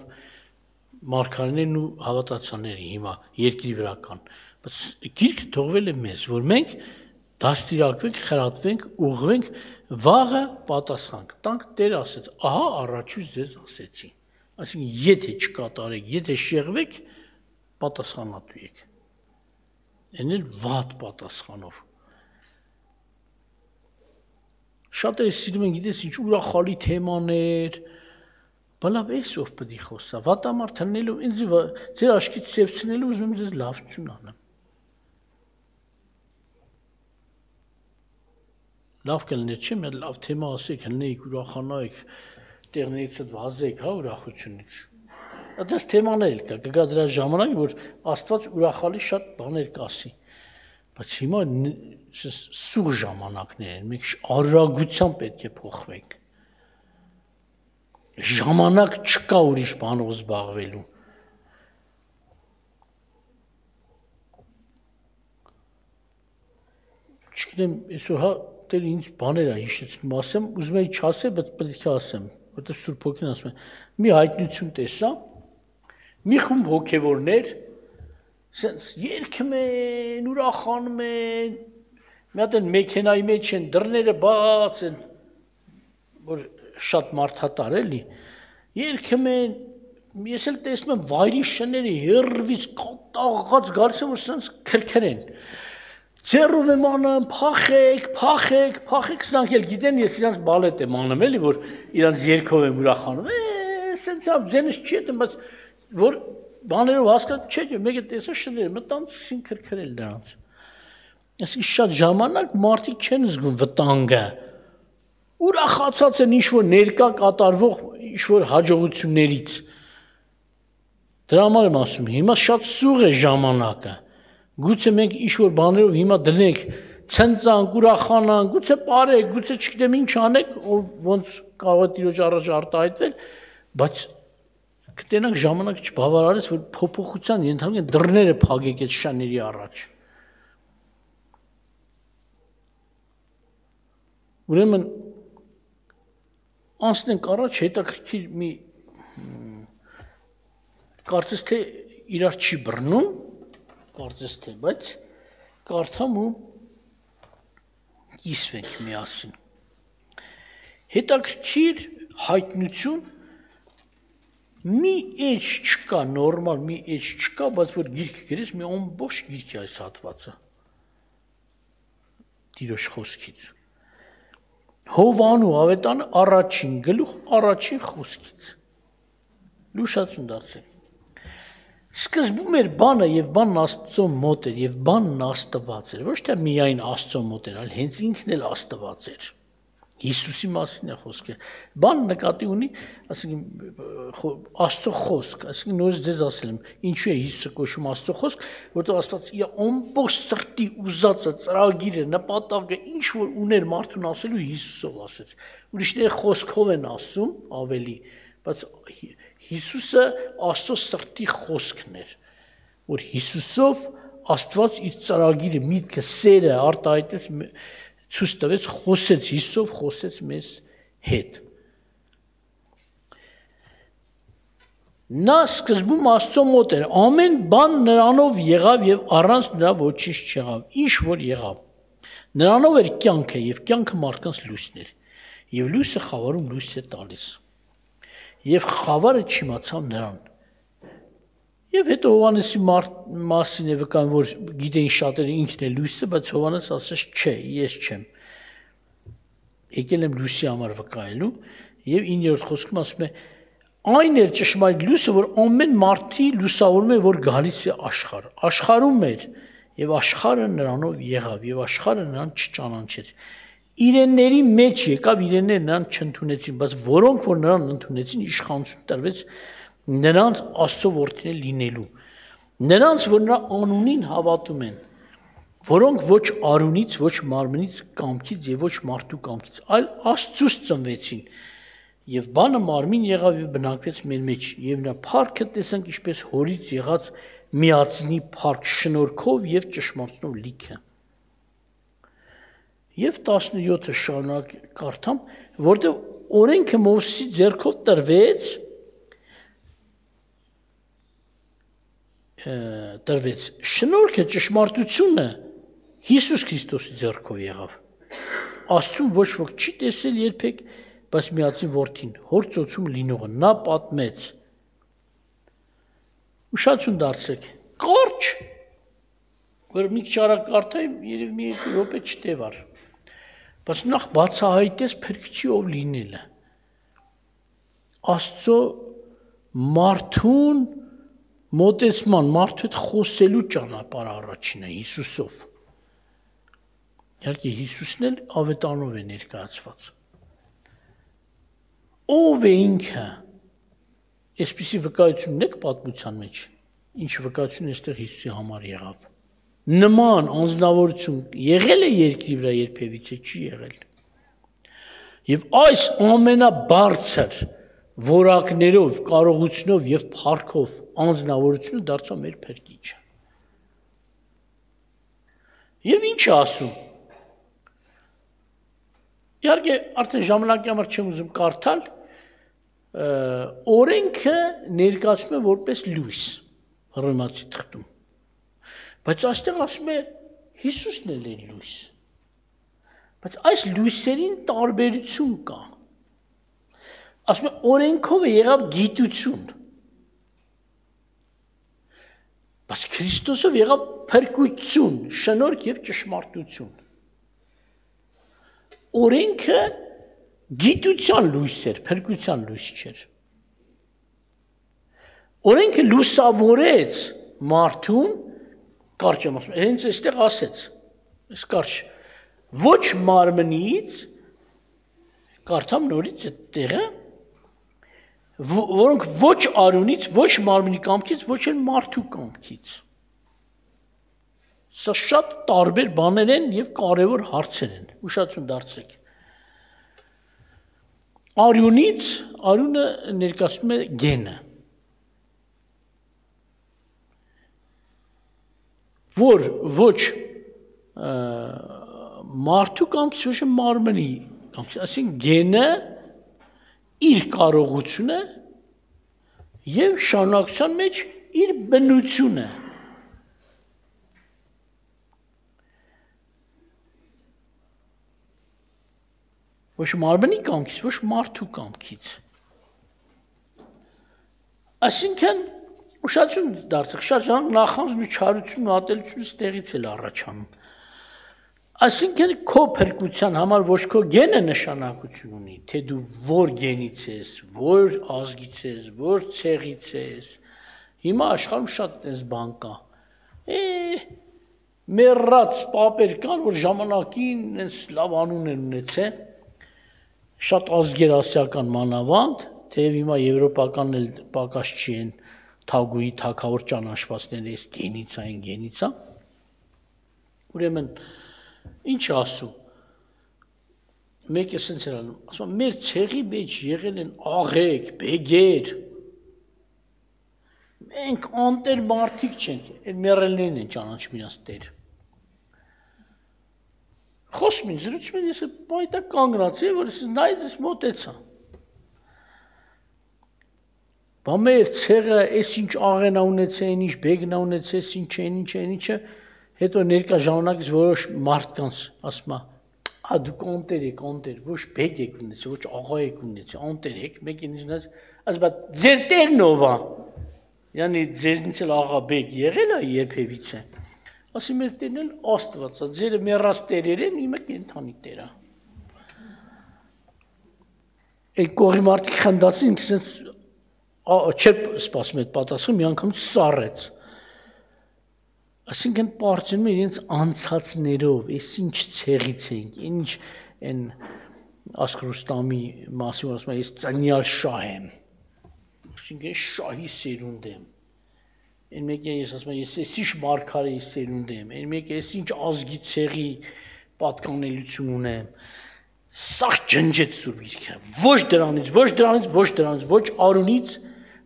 մարգարեներն ու հավատացյալները հիմա երկրի վրա կան։ Բայց գիրքը թողվել է մեզ, որ մենք դաստիարակվենք, խրատվենք, ուղղվենք, վաղը պատասխան կտանք, Տեր ասեց, ահա առաջուց ձեզ ասեցի։ Այսինքն եթե չկատարեք, եթե շեղվեք, պատասխանատու եք։ Այն էլ վատ պատասխանով։ Շատերը սիրում են, գիտես ինչ ուրախալի թեմաներ, բալավ էսով պետք է խոսա, վատամարդ հննելով, ինձ ձեր աչքից սևցնելու ուզում եմ ձեզ լավություն անեմ։ Լավ կլներ չէ, մի լավ թեմա ասեք, հննեիք, ուրախանայիք, տեղներից այդ վազեք, հա, ուրախությունից։ Այդպես թեմաներ կա, կգա դրա ժամանակ, որ Աստված ուրախալի շատ բաներ կասի։ Բայց հիմա սուղ ժամանակներ են, մենք արագությամբ պետք է փոխվենք։ Ժամանակ չկա ուրիշ բանով զբաղվելու։ Չգիտեմ, այսօր հա Տերը ինձ բաներ է հիշեցնում, ասեմ, ուզում եի չասեմ, բայց պետք է ասեմ, որտեղ Սուրբ Հոգին ասում է, մի հայտնություն տեսա, մի խումբ հոգևորներ, սենց երգում են, ուրախանում են, մի հատ են մեքենայի մեջ են, դռները բաց են, որ շատ մարդատար էլի, երգում են, ես էլ տեսնում եմ վայրի շները հեռվից կատաղած գալիս են, որ սենց քրքր են։ Ձեռով եմ անում, փախեք, սրանք էլ գիտեն, ես իրանց բալետ եմ անում, էլի, որ իրանց երգով եմ ուրախանում, սենց ձենս չի հետում, բայց որ բաներով հասկաց չէ, մեկը տեսա շները, մտան սկսին քրքրել դրանց։ Այսինքն շատ ժամանակ մարդիկ չեն զգում վտանգը, ուրախացած են ինչ-որ ներկա կատարվող ինչ-որ հաջողություններից։ Դրա համար եմ ասում, հիմա շատ սուղ է ժամանակը։ Գուցե մենք ինչ-որ բաներով հիմա դնենք, ցնծանք, ուրախանանք, գուցե ապարեք, գուցե չգիտեմ ինչ անեք, ոնց կարող է Տիրոջ առաջ արտահայտվել, բայց կտենանք ժամանակ չբավարարես, որ փոփոխության ենթարկեն դռները փակեք այդ շաների առաջ։ Ուրեմն անցնենք առաջ, հետաքրքիր մի կարծես թե իրար չի բռնում, կարծես թե, բայց կարդամ ու կիսվենք միասին։ Հետաքրքիր հայտնություն, մի էջ չկա, նորմալ մի էջ չկա, բայց որ գիրք գրես, մի ամբողջ գիրք է այս հատվածը Տիրոջ խոսքից։ Հովանու ավետանը առաջին գլուխ, առաջին խոսքից։ Լուշացուն դարձեք։ Սկզբում էր բանը եւ բանն Աստծո մոտ էր եւ բանն Աստված էր, ոչ թե միայն Աստծո մոտ էր, այլ հենց ինքն էլ Աստված էր։ Հիսուսի մասին է խոսքը։ Բանը նկատի ունի, ասենք Աստծո խոսք, ասենք նորից ձեզ ասել եմ, ինչու է Հիսուսը կոչում Աստծո խոսք, որտեղ Աստված իր ամբողջ սրտի ուզածը, ծրագիրը, նպատակը, ինչ որ ուներ մարդուն ասելու Հիսուսով ասեց։ Ուրիշները խոսքով են ասում ավելի, բայց Հիսուսը Աստծո սրտի խոսքն էր, որ Հիսուսով Աստված իր ծրագիրը, միտքը, սերը արտահայտեց, ցույց տվեց, խոսեց Հիսուսով, խոսեց մեզ հետ։ Նա սկզբում Աստծո մոտ էր, ամեն բան նրանով եղավ եւ առանց նրա ոչինչ չեղավ, ինչ որ եղավ։ Նրանով էր կյանքը եւ կյանքը մարդկանց լույսն էր, եւ լույսը խավարում լույս է տալիս։ Եվ խավարը չիմացավ նրան։ Եվ հետո Հովհաննեսի մասին է վկան, որ գիտեին շատերը ինքն է լույսը, բայց Հովհաննես ասեց, չէ, ես չեմ։ Եկել եմ լույսի համար վկայելու, եւ 9-րդ խոսքում ասում է, Այն էր ճշմարիտ լույսը, որ ամեն մարդի լուսավորում է, որ գալիս է աշխարհ։ Աշխարհում էր, եւ աշխարհը նրանով եղավ, եւ աշխարհը նրան չճանաչեց։ Իրենների մեջ եկավ, իրենները նրան չընդունեցին, բայց որոնք որ նրան ընդունեցին, իշխանություն տրվեց նրանց Աստծո որդիներ լինելու։ Նրանց, որ նրա անունին հավատում են, որոնք ոչ արունից, ոչ մարմնից կամքից եւ ոչ մարդու կամքից, այլ Աստծուց ծնվեցին։ Եվ բանը մարմին եղավ եւ բնակվեց մեր մեջ, եւ նա փառքը տեսանք ինչպես հորից եղած միածնի փառք շնորհքով եւ ճշմարտությունով լիքը։ Եվ 17-ը շարունակ կարդամ, որտեղ օրենքը Մովսեսի ձեռքով տրվեց, շնորհքը ճշմարտությունը Հիսուս Քրիստոսի ձեռքով եղավ։ Աստծուն ոչ ոք չի տեսել երբեք, բայց միածին որդին, հոր ծոցում լինողը, նա պատմեց։ Ուշադրություն դարձրեք, կարճ, որ մի քիչ արագ կարդայի, երևի մի րոպե չտևար, բայց նախ բացահայտեց Փրկչի ով լինելը։ Աստծո մարդուն մոտեցման, մարդու հետ խոսելու ճանապարհը առաջինը Հիսուսով։ Իհարկե Հիսուսն էլ ավետարանով է ներկայացված։ Ով է ինքը։ Այսպիսի վկայություն ունեք պատմության մեջ, ինչ վկայություն այստեղ Հիսուսի համար եղավ։ Նման անձնավորություն եղել է երկրի վրա երբևիցե չի եղել։ Եվ այս ամենաբարձր որակներով, կարողությունով եւ փառքով անձնավորությունը դարձավ մեր Փրկիչը։ Եվ ինչ է ասում։ Իհարկե արդեն ժամանակի համար չեմ ուզում կարդալ, օրենքը ներկայացնում է որպես լույս Հռոմեացի թղթում։ Բայց այստեղ ասում է Հիսուսն էլ է լույս։ Բայց այս լույսերին տարբերություն կա։ Ասում է օրենքով է եղավ գիտություն։ Բայց Քրիստոսով եղավ փրկություն, շնորհք եւ ճշմարտություն։ Օրենքը գիտության լույս էր, փրկության լույս չէր։ Օրենքը լուսավորեց մարդուն, կարճ եմ ասում, հենց այստեղ ասեց, այս կարճ, ոչ մարմնից, կարդամ նորից այդ տեղը, որոնք ոչ արունից, ոչ մարմնի կամքից, ոչ էլ մարդու կամքից։ Սա շատ տարբեր բաներ են եւ կարեւոր հարցեր են։ Ուշադրություն դարձրեք։ Արյունից, արյունը ներկայացնում է գենը։ Որ ոչ մարդու կամքից, ոչ մարմնի կամքից, այսինքն գենը իր կարողությունը եւ շարունակության մեջ իր բնությունը։ Ոչ մարմնի կամքից, ոչ մարդու կամքից։ Այսինքն ուշադրություն դարձեք, շատ ժամանակ նախանձն ու չարությունն ու ատելությունը ստեղից էլ առաջանում։ Այսինքն քո փրկության համար ոչ քո գենը նշանակություն ունի, թե դու որ գենից ես, որ ազգից ես, որ ցեղից ես։ Հիմա աշխարհում շատ այս բան կա։ Մեռած պապեր կան, որ ժամանակին այս լավ անուն են ունեցել, շատ ազգեր ասիական մանավանդ, թեև հիմա եվրոպականն էլ պակաս չի են թագուի թագավոր ճանաչվածները այս գենից այն գենից է։ Ուրեմն ինչ ասում։ Մեկը ասենց էր անում, ասում մեր ցեղի մեջ եղել են աղեկ, բեգեր։ Մենք անտեր մարդիկ չենք, այդ մեռելներն են ճանաչում իրաց տեր։ Խոսում են, զրուցում են, ես պայտակ կանգնած եմ, որ ես նայեց ես մոտեցա։ Բա մեր ցեղը այս ինչ աղենա ունեցել, ինչ բեգնա ունեցել, ինչ, հետո ներկա ժամանակից որոշ մարդկանց ասում է, դուք անտեր եք, ոչ բեգ եք ունեցել, ոչ աղա եք ունեցել, անտեր եք, մեկին ինձնից, ասում է, ձեր տերն ով է։ Յանի ձեզնից էլ աղա բեգ եղել է երբևիցե։ Ասի մեր տերն էլ Աստված է, ձերը մեռած տերեր են, իմը կենդանի տեր է։ Այդ կողի մարդիկ խնդացին, ինքնից չէ սպասում այդ պատասխան մի անգամ սառեց։ Այսինքն պարծնում են իրենց անցածներով, այս ինչ ցեղից ենք, ինչ են Ասկրուստամի մասին ասում են, ես ծնյալ շահ եմ։ Այսինքն շահի սերունդ եմ։ Այն մեկը ես ասում եմ, ես ինչ մարգարեի սերունդ եմ, այն մեկը ես ինչ ազգի ցեղի պատկանելություն ունեմ։ Սա ջնջեց Սուրբ Գիրքը։ Ոչ դրանից, ոչ արունից,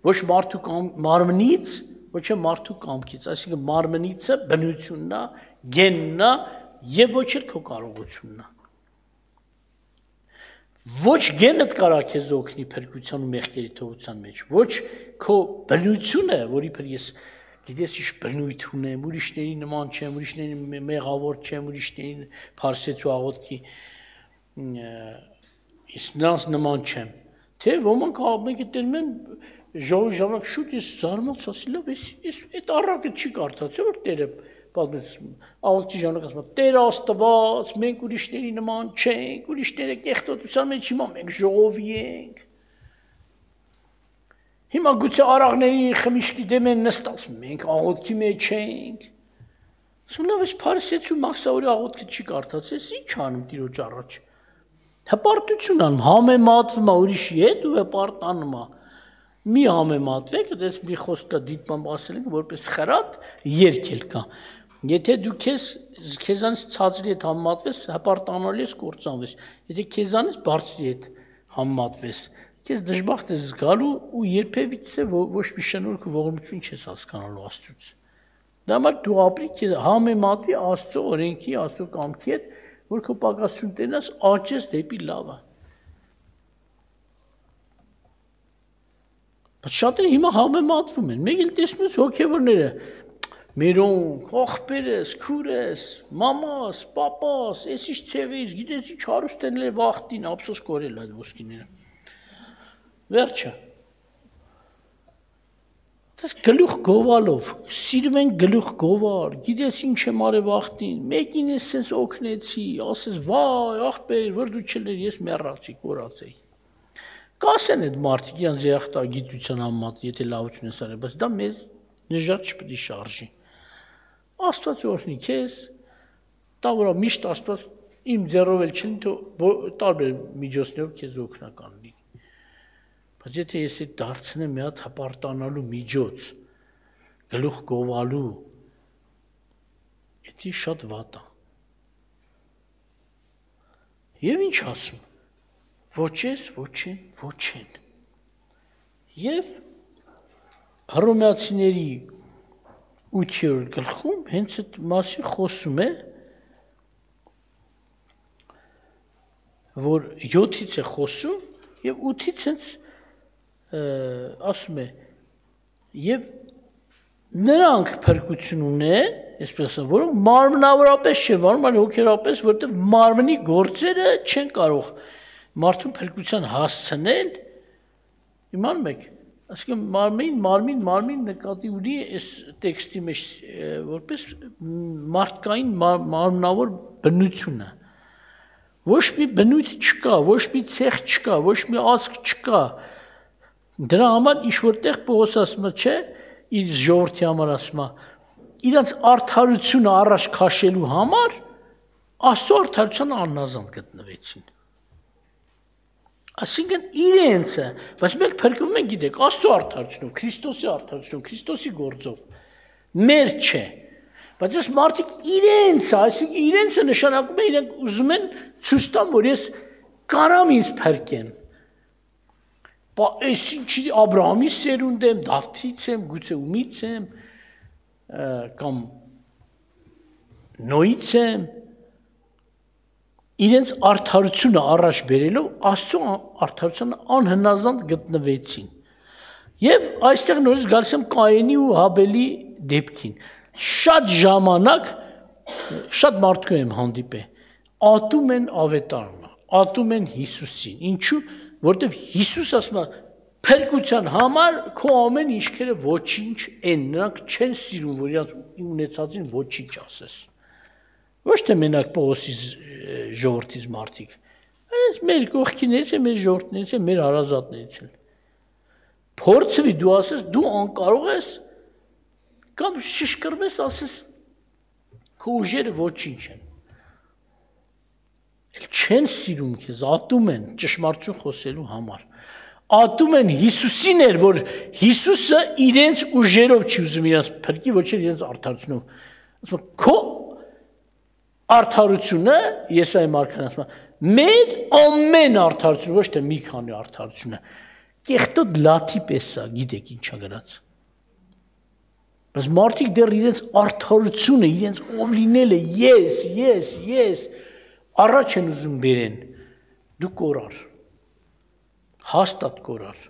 ոչ մարդու մարմնից, ոչ մարդու կամքից, այսինքն մարմնիցը բնությունն է, գենն է եւ ոչ էլ քո կարողությունն է։ Ոչ գենդ կարա քեզ օգնի փրկության ու մեղքերի թողության մեջ, ոչ քո բնությունը, որի પર ես գիտես ինչ բնույթ ունեմ, ուրիշների նման չեմ, ուրիշների մեղավոր չեմ, ուրիշների փարսեցու աղոթքի ես նրանց նման չեմ։ Թե ոմանք մեկը տերում են ժողովուրդ շուտ ես զարմացա, ասի լավ, ես այդ առակը չի կարդացել, որ Տերը պատմեց աղոթքի ժամանակ ասում է Տեր Աստված, մենք ուրիշների նման չենք, ուրիշները կեղտոտության մեջ հիմա մենք ժողովի ենք։ Հիմա գուցե արաղների խմիչքի դեմ են նստած, մենք աղոթքի մեջ ենք։ Ասում լավ, ես փարիսեցու Մաքսավորի աղոթքը չի կարդացել, ինչ անում Տիրոջ առաջ։ Հպարտություն անում, համեմատվում է ուրիշի հետ ու հպարտանում է։ Մի համեմատվեք, դες մի խոսք կա դիտման ասել ենք, որպես խրատ երգել կա։ Եթե դու քեզանից ցածրի հետ համեմատվես, հպարտանալի ես կործանվես։ Եթե քեզանից բարձրի հետ համեմատվես, քեզ դժբախտ ես զգալու ու երբևիցե ոչ մի շնորհք ու ողորմություն չես հասկանալու Աստծուց։ Դա համար դու ապրի քեզ համեմատվի Աստծո օրենքի, Աստծո կամքի հետ, որ քո պակասություն տենաս աճես դեպի լավը։ Բայց շատերը հիմա համեմատվում են։ Մեկ էլ տեսնում ես հոգևորները մերոնք, ախպերս, քուրս, մամաս, պապաս, ես ինչ ցեղից, գիտես ինչ հարուստ են լեր վախտին, ափսոս կորել այդ ոսկիները։ Վերջը։ Դες գլուխ գովալով, սիրում են գլուխ գովալ, գիտես ինչ եմ արել վախտին, մեկին ես sense օգնեցի, ասես վայ, ախպեր, որ դու չլեր, ես մեռացի, կորացեի։ Կասեն այդ մարդիկ իրանց երախտագիտության համեմատ, եթե լավություն ես արել, բայց դա մեզ նժար չպետք է շարժի։ Աստված օրհնի քեզ, դա որ միշտ Աստված իմ ձեռով էլ չլինի, թող տարբեր միջոցներով քեզ օգնական լինի։ Բայց եթե ես այդ դարձնեմ մի հատ հպարտանալու միջոց, գլուխ գովալու, դա շատ վատ է։ Եվ ինչ ասում։ Ոչ ես, ոչ են։ Եվ Հռոմեացիների 8-րդ գլխում հենց այդ մասին խոսում է, որ 7-ից է խոսում եւ 8-ից հենց ասում է եւ նրանք փրկություն ունեն, այսպես ասեմ, որոնք մարմնավորապես չէ, որոնք հոգեորապես, որտեղ մարմնի գործերը չեն կարող մարդուն փրկության հասցնել, իմանում եք, այսինքն մարմին նկատի ունի այս տեքստի մեջ որպես մարդկային մարմնավոր բնությունը։ Ոչ մի բնույթ չկա, ոչ մի ցեղ չկա, ոչ մի ազգ չկա։ Դրա համար ինչ որտեղ Պողոս ասում է, չէ, իր ժողովրդի համար ասում է, իրանց արդարությունը առաջ քաշելու համար Աստծո արդարության աննազան գտնվեցին։ Այսինքն իրենցը, բայց մենք փրկվում ենք, գիտեք, Աստծո արդարությունով, Քրիստոսի արդարությունով, Քրիստոսի գործով, մեր չէ։ Բայց այս մարդիկ իրենցը, այսինքն իրենցը նշանակում է իրենք ուզում են ցույց տան, որ ես կարամ ինձ փրկեմ։ Այս ինչի Աբրահամի սերունդ եմ, Դավթից եմ, գուցե ումից եմ, կամ Նոյից եմ, իրենց արդարությունը առաջ բերելով Աստծո արդարությանը անհնազանդ գտնվեցին։ Եվ այստեղ նորից գալիս եմ Կայենի ու Հաբելի դեպքին։ Շատ ժամանակ շատ մարդու եմ հանդիպել, ատում են ավետարանը, ատում են Հիսուսին։ Ինչու՞, որտեղ Հիսուս ասում է փրկության համար քո ամեն ինչքերը ոչինչ են, նրանք չեն սիրում, որ իրաց ունեցածին ոչինչ ասես։ Ոչ թե մենակ Պողոսի ժողովրդից մարդիկ, այս մեր կողքիներից է, մեր ժողովրդներից է, մեր հարազատներից են։ Փորձվի դու ասես դու անկարող ես կամ շշկրվես ասես քո ուժերը ոչինչ են։ Չեն սիրում քեզ, ատում են ճշմարտություն խոսելու համար։ Ատում են Հիսուսին էր, որ Հիսուսը իրենց ուժերով չի ուզում իրենց փրկի, ոչ էլ իրենց արդարությունով։ Ասում քո արդարությունը, Եսայի մարգարեն ասում է, մեր ամեն արդարությունը, ոչ թե մի քանի արդարությունը, կեղտոտ լաթի պես է, գիտեք ինչա գրած։ Բայց մարդիկ դեռ իրենց արդարությունը, իրենց ով լինելը, ես, առաջ են ուզում բերեն, դու կորար, հաստատ կորար։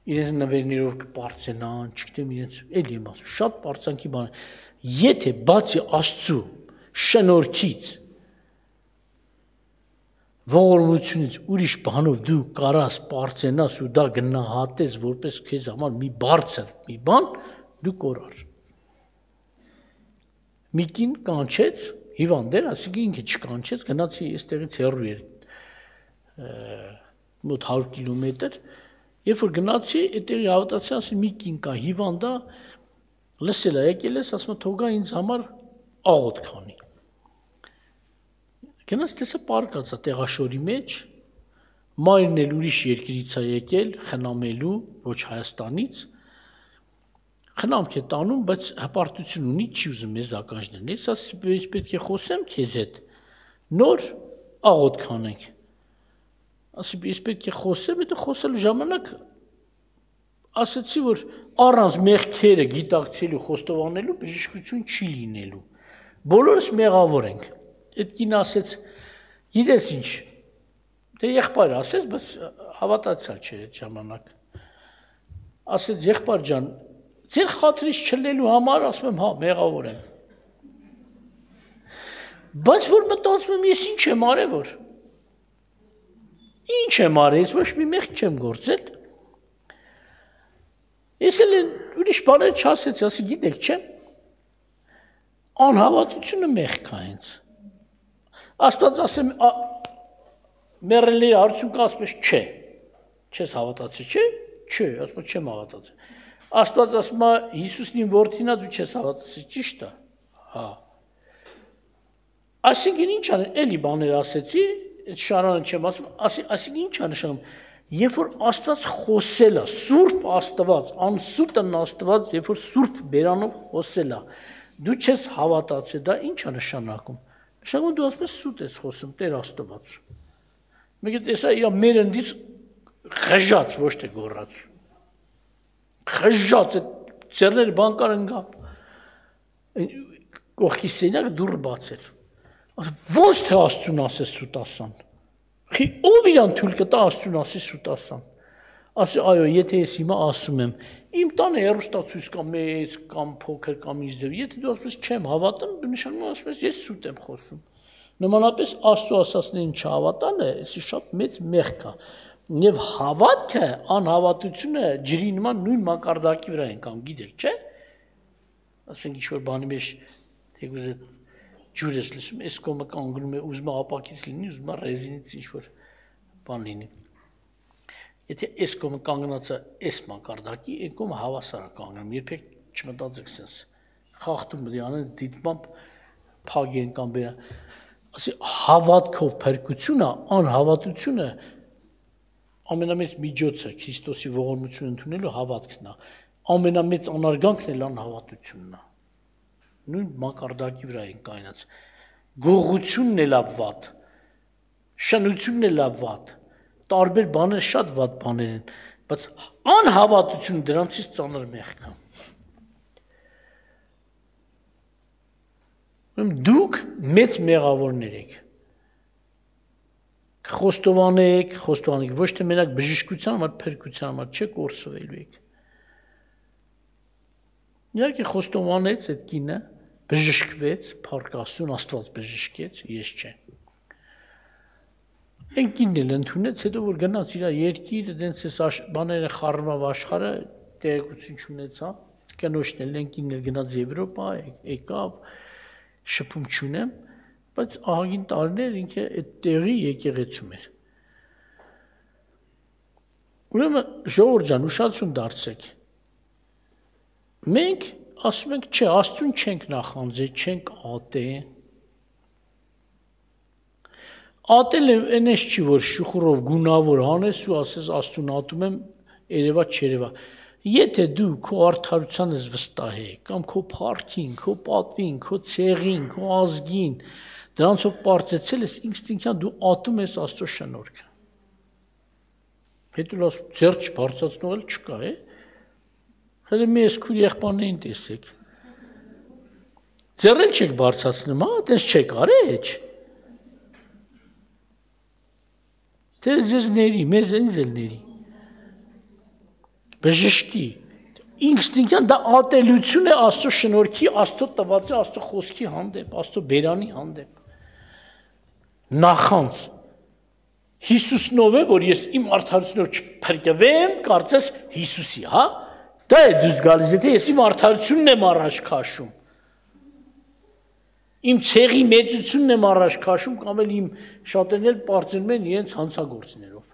Իրենց նվերներով կպարծենան, չգիտեմ իրենց, էլ եմ ասում, շատ պարծանքի բան է, եթե բացի Աստծու շնորհքից, ողորմությունից ուրիշ բանով դու կարաս պարծենաս ու դա գնահատես որպես քեզ համար մի բարձր մի բան, դու կորար։ Մի կին կանչեց, հիվանդ էր, ասիկի ինքը չկանչեց, գնացի այստեղից հեռու էր մոտ 100 կիլոմետր, երբ որ գնացի, այդտեղի հավատացի, ասի մի կին կա, հիվանդ է, լսել է, եկել ես, ասում է թողա ինձ համար աղոթք քանի։ Գնաց տեսա պարկած է տեղաշորի մեջ, մայրն էլ ուրիշ երկրից է եկել, խնամելու, ոչ Հայաստանից, խնամք է տանում, բայց հպարտություն ունի, չի ուզում մեզ ականջ դնել, ասի պետք է խոսեմ քեզ հետ, նոր աղոթք անենք, ասի ես պետք է խոսեմ, հետո խոսելու ժամանակ ասացի, որ առանց մեղքերը գիտակցելու, խոստովանելու բժշկություն չի լինելու, բոլորս մեղավոր ենք, այդ կին ասեց, գիտես ինչ, դե եղբայր ասեց, բայց հավատացյալ չէր այդ ժամանակ, ասեց եղբայր ջան, ձեր խաթրից չլելու համար, ասում եմ, հա, մեղավոր եմ, բայց որ մտածում եմ, ես ինչ եմ արել, որ, ինչ եմ արել, ես ոչ մի մեղք չեմ գործել, ես էլ ուրիշ բաներ չասեցի, ասի գիտեք չեմ, անհավատությունը մեղք է հենց, Աստված ասեմ, մեռելների հարություն կա, ասում ես չէ, չես հավատացի, չէ, ասում ես չեմ հավատացի, Աստված ասում է Հիսուսն իմ որդին է, դու չես հավատացի, ճիշտ է, հա, այսինքն ինչ է, էլի բաներ ասեցի, այդ շարանը չեմ ասում, այսինքն ինչ է նշանում, երբ որ Աստված խոսել է, Սուրբ Աստված, անսուտն Աստված, երբ որ Սուրբ բերանով խոսել է, դու չես հավատացի, դա ինչ է նշանակում, նշանակում դու ասում ես սուտ ես խոսում, Տեր Աստված, մեկը տեսա իր մեր ընդից խժած, ոչ թե գոռաց, խժած, ձեռները բանկար ընկավ, կողքի սենյակը դուռը բացել, ոնց թե Աստծուն ասես սուտ ասան, ով իրան թույլ կտա Աստծուն ասի սուտ ասան, ասի այո, եթե ես հիմա ասում եմ, իմ տանը հեռուստացույց կամ մեծ կամ փոքր կամ ինչ ձև, եթե դու ասում ես չեմ հավատում, նշանակում ասում ես ես սուտ եմ խոսում, նմանապես Աստծո ասածներին չհավատալը, էսի շատ մեծ մեղք է, եւ հավատքը, անհավատությունը ջրի նման նույն մակարդակի վրա են կամ գիտեք, չէ՞, ասենք ինչ որ բանի մեջ թեկուզ ջուր ես լսում, այս կողմը կանգնում է, ուզում է ապակից լինի, ուզում է ռեզինից ինչ որ բան լինի։ Եթե այս կողմը կանգնած է այս մակարդակի, այն կողմը հավասար է կանգնում, երբեք չմտածեք sense, խախտում պետք է անեն դիտմամբ փագեն կամ բերան, ասի հավատքով փրկությունը, անհավատությունը ամենամեծ միջոցը Քրիստոսի ողորմությունը ընդունելու հավատքն է, ամենամեծ անարգանքն էլ անհավատությունն է, նույն մակարդակի վրա են կայնած, գողությունն էլ է վատ, շնությունն էլ է վատ, տարբեր բաներ շատ վատ բաներ են, բայց անհավատությունը դրանցից ծանր մեղք է։ Դուք մեծ մեղավորներ եք, խոստովանեք, ոչ թե մենակ բժշկության համար, փրկության համար, չեք կորսվելու եք։ Իհարկե խոստովանեց այդ կինը, բժշկվեց, փառք Աստծուն, Աստված բժշկեց, ես չէ։ Այն կինն էլ ընդունեց, հետո որ գնաց իր երկիր, դենց էս բաները խառնավ աշխարհը, տեղեկություն չունեցա, կնոջն էլ այն կինն էլ գնաց Եվրոպա, եկավ, շփում չունեմ, բայց ահագին տարիներ ինքը այդ տեղի եկեղեցում էր։ Ուրեմն ժողովուրդ ջան, ուշադրություն դարձրեք։ Մենք ասում ենք, չէ, Աստծուն չենք նախանձել, չենք ատել։ Ատելը այնպես չի, որ շուխուրով գունավոր անես ու ասես Աստծուն ատում եմ, երևա չերևա։ Եթե դու քո արդարության ես վստահ ես, կամ քո փառքին, քո պատվին, քո ցեղին, քո ազգին, դրանցով պարծեցել ես, ինստինկտիվորեն դու ատում ես Աստծո շնորհքը։ Հետո լավ ձեռք չբարձրացնող չկա, է։ Հələ մի ես քույր եղբայրներին տեսեք։ Ձեռել չեք բարձրացնում, հա, այդպես չեք արել։ Թե ձեզ ների, մեզ ինձ էլ ների։ Բժշկի, ինստինկտիվորեն դա ատելություն է Աստծո շնորհքի, Աստծո տված է Աստծո խոսքի հանդեպ, Աստծո բերանի հանդեպ։ Նախանձ Հիսուսնով է, որ ես իմ արդարությունով չփրկվեմ, կարծես Հիսուսի, հա։ Դա է դուս գալիս, եթե ես իմ արդարությունն եմ առաջ քաշում։ Իմ ցեղի մեծությունն եմ առաջ քաշում, կամ էլ իմ շատերն էլ պարծնում են իրենց հանցագործներով։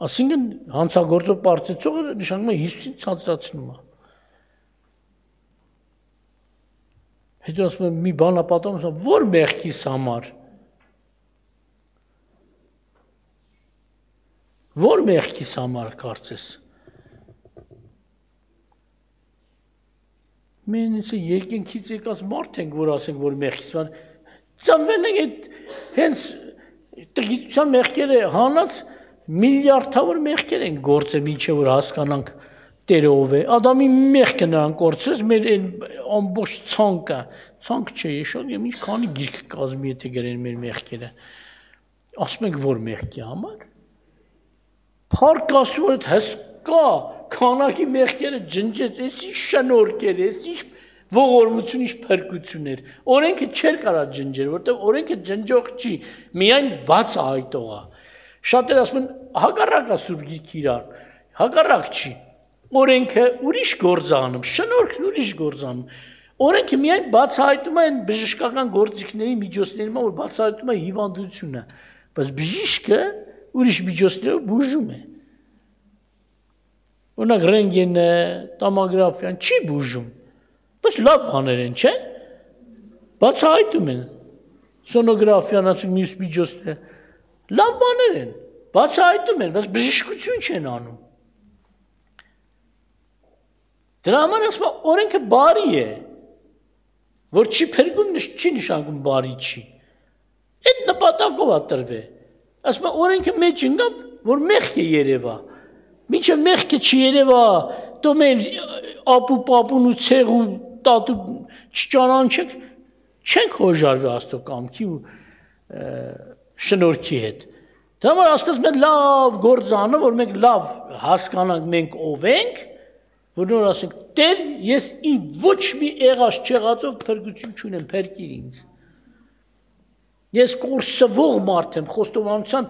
Այսինքն հանցագործով պարծեցողը նշանակում է Հիսուսին ցածրացնում է։ Հետո ասում եմ մի բան ապատում, որ մեղքիս համար։ Որ մեղքիս համար կարծես։ Մենք երկնքից եկած մարդ ենք, որ ասենք, որ մեղքից համար ծնվել ենք այդ հենց տգիտության մեղքերը հանած միլիարդավոր մեղքեր են գործել, մինչև որ հասկանանք Տերը ով է։ Ադամի մեղքը նրան կորցրեց, մեր ամբողջ ցանկը, ցանկ չէ, իշոտ, եմ ինչ քանի գիրք կազմի, եթե գրեն մեր մեղքերը։ Ասում ենք, որ մեղքի համար։ Փառք ասում որ հսկա քանակի մեղքերը ջնջեց, էս ինչ շնորհքեր, էս ինչ ողորմություն, ինչ փրկություն էր։ Օրենքը չէր կարա ջնջել, որտեղ օրենքը ջնջող չի, միայն բացահայտող է։ Շատերը ասում են հակառակը Սուրբ Գիրքի իրար, հակառակ չի։ Օրենքը ուրիշ գործանում, շնորհքն ուրիշ գործանում։ Օրենքը միայն բացահայտում է այն բժշկական գործիքների միջոցների, որ բացահայտում է հիվանդությունը, բայց բժիշկը ուրիշ միջոցներով բուժում է։ Օրինակ ռենտգենը, տոմոգրաֆիան չի բուժում, բայց լավ բաներ են, չէ՞։ Բացահայտում են։ Սոնոգրաֆիան, ասենք մյուս միջոցները, լավ բաներ են, բացահայտում են, բայց բժշկություն չեն անում։ Դրա համար ասում եմ, օրենքը բարի է, որ չի փրկում, չի նշանակում բարի չի։ Այդ նպատակով է տրվել։ Ասում եմ, օրենքը մեջ ընկավ, որ մեղք է երևա։ Մինչև մեղքը չերևա, դու մեր ապու պապուն ու ցեղ ու տատու չճանաչեք, չենք հոժարվի Աստծո կամքի ու շնորհքի հետ։ Դրա համար Աստված մեր լավ գործ անում, որ մենք լավ հասկանանք մենք ով ենք, որ նոր ասենք, Տեր, ես իմ ոչ մի եղած չեղածով փրկություն չունեմ, փրկիր ինձ։ Ես կորսվող մարդ եմ, խոստովանության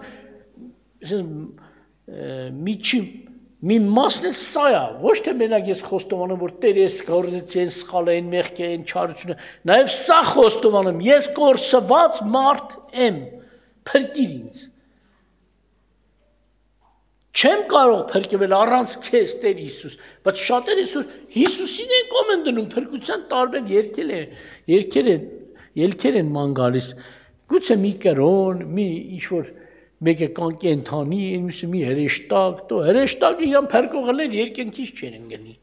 մի մասն էլ սա է, ոչ թե մենակ ես խոստովանում, որ Տեր ես գործեցի են սխալը, են մեղքը, են չարությունը, նաև սա խոստովանում, ես կորսված մարդ եմ, փրկիր ինձ։ Չեմ կարող փրկվել առանց քեզ Տեր Հիսուս, բայց շատերը այսօր Հիսուսին են կոմեն դնում, փրկության տարբեր ելքեր են ման գալիս։ Գուցե մի կրոն, մի ինչ-որ մեկը կան կենթանի, մյուսը մի հրեշտակ, դո հրեշտակը իրան փրկողներ երկնքից չեն ընկնի։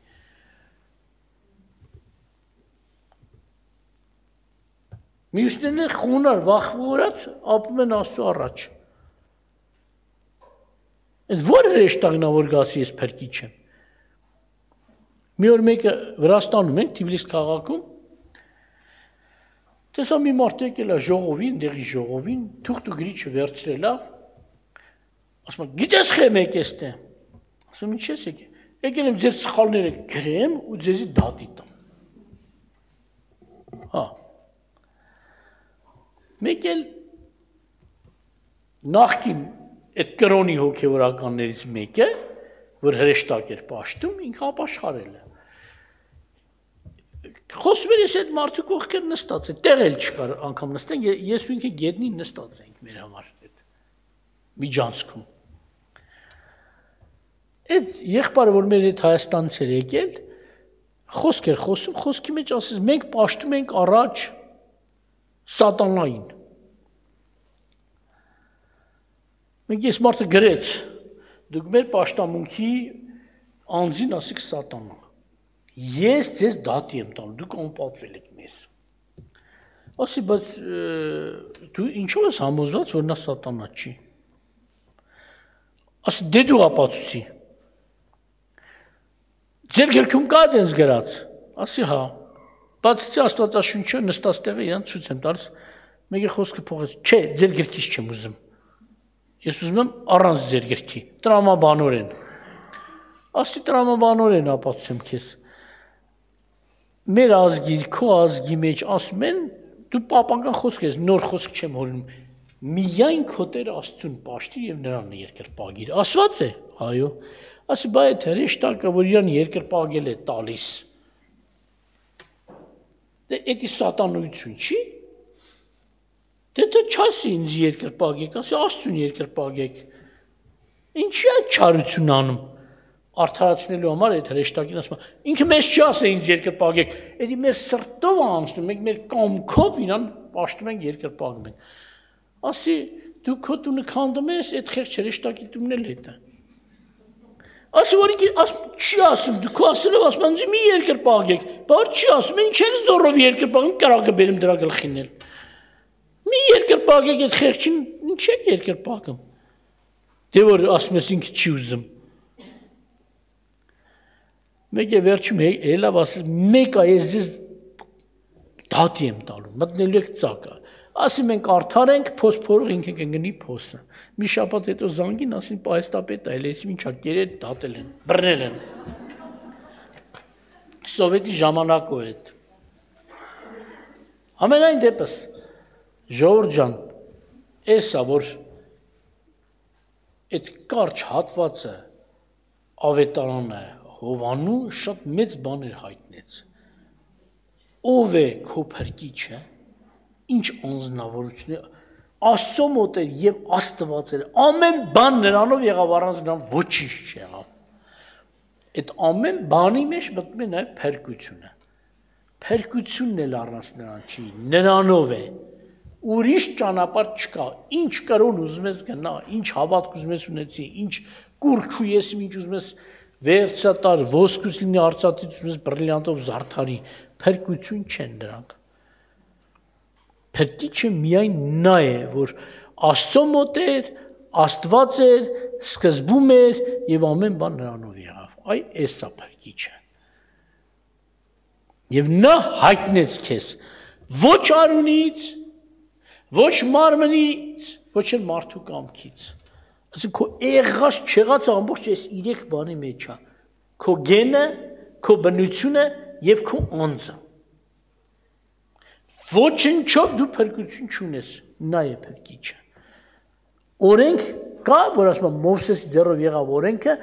Մյուսներն են խոնար, վախվորած, ապրում են Աստծո առաջ։ Այդ որ հրեշտակն է, որ գասի ես փրկիչ եմ։ Մի օր մեկը Վրաստանում ենք, Թիֆլիս քաղաքում, տեսա մի մարդ եկել է ժողովին, դեղի ժողովին, թուղթ ու գրիչը վերցրել է, ասում է, գիտես խեմ եք էստե։ Ասում ինչ ես եկել։ Եկել եմ ձեր սխալները գրեմ ու ձեզի դատի տամ։ Հա։ Մեկ էլ նախկին այդ կրոնի հոգևորականներից մեկը, որ հրեշտակ էր պաշտում, ինքը ապաշխարել է։ Խոսում էր ես այդ մարդու կողքեր նստած է, տեղ էլ չկար անգամ նստենք, ես ու ինքը գետնին նստած ենք մեր համար այդ միջանցքում։ Այդ եղբայրը, որ մեր հետ Հայաստանից էր եկել, խոսք էր խոսում, խոսքի մեջ ասես մենք պաշտում ենք առաջ սատանային։ Մենք ես մարդը գրեց, դուք մեր պաշտամունքի անձին ասիք սատանա։ Ես ձեզ դատի եմ տանում, դուք անպատվել եք մեզ։ Ասի, բայց դու ինչով ես համոզված, որ նա սատանա չի։ Ասի, դե դու ապացուցի։ Ձեր գրքում կա դենց գրած։ Ասի, հա։ Բացի Աստվածաշունչը նստած տեղը իրան ցույց եմ տալիս։ Մեկը խոսքը փոխեց։ Չէ, ձեր գրքից չեմ ուզում։ Ես ուզում եմ առանց ձեր գրքի, տրամաբանորեն։ Ասի, տրամաբանորեն ապացուցեմ քեզ։ Մեր ազգի, քո ազգի մեջ ասում են, դու պապական խոսք ես, նոր խոսք չեմ հորինում, միայն քո Տեր Աստծուն պաշտիր եւ նրան երկրպագիր։ Ասված է, այո։ Ասի, բայ այդ հրեշտակը, որ իրան երկրպագել է տալիս։ Դե էդի սատանություն չի։ Դե դու չասի ինձ երկրպագեք, ասի Աստծուն երկրպագեք։ Ինչի՞ է չարություն անում։ Արդարացնելու համար այդ հրեշտակին ասում է, ինքը մեզ չի ասել ինձ երկրպագեք, էդի մեր սրտով անցնում, մենք մեր կամքով իրան պաշտում ենք երկրպագում ենք։ Ասի, դու քո տունը քանդում ես, այդ խեղճ հրեշտակի տունն էլ հետ է։ Ասի, որ ինքը չի ասում, դու քո ասելով ասում ինձ մի երկրպագեք, բայց չի ասում, ինչ եք զորով երկրպագում, կրակը բերեմ դրա գլխին էլ։ Մի երկրպագեք այդ խեղճին, ինչ եք երկրպագում։ Դե որ ասում ես ինքը չի ուզում։ Մեկ է վերջում հելավ ասես, մեկ է ես ձեզ դատի եմ տալու, մտնելու եք ծակը։ Ասի մենք արդար ենք, փոս փորող ինքը կգնի փոսը։ Մի շաբաթ հետո զանգին, ասին պայստապետ այլ էսի ինչա կերել դատել են, բռնել են։ Սովետի ժամանակով այդ։ Ամենայն դեպս, ժողովուրդ ջան, էսա որ այդ կարճ հատվածը ավետարանը Հովանու շատ մեծ բաներ հայտնեց։ Ով է քո փրկիչը, ինչ անձնավորություն է, Աստծո մոտ էր եւ Աստված էր, ամեն բան նրանով եղավ, առանց նրան ոչինչ չեղավ։ Այդ ամեն բանի մեջ մտնում է նաեւ փրկությունը։ Փրկությունն էլ առանց նրան չի, նրանով է։ Ուրիշ ճանապարհ չկա, ինչ կրոն ուզում ես գնա, ինչ հավատք ուզում ես ունեցի, ինչ կուրքու ես, ինչ ուզում ես վերցատար, ոսկուց լինի արծաթից ուզում ես բրիլյանտով զարդարի, փրկություն չեն դրանք։ Փրկիչը միայն նա է, որ Աստծո մոտ էր, Աստված էր, սկզբում էր եւ ամեն բան նրանով եղավ։ Այ էսա փրկիչը։ Եվ նա հայտնեց քեզ ոչ արունից, ոչ մարմնից, ոչ էլ մարդու կամքից։ Այսինքն քո եղած չեղած ամբողջ այս 3 բանի մեջ է։ Քո գենը, քո բնությունը եւ քո անձը։ Ոչնչով դու փրկություն չունես, նա է փրկիչը։ Օրենք կա, որ ասում եմ Մովսեսի ձեռով եղավ օրենքը,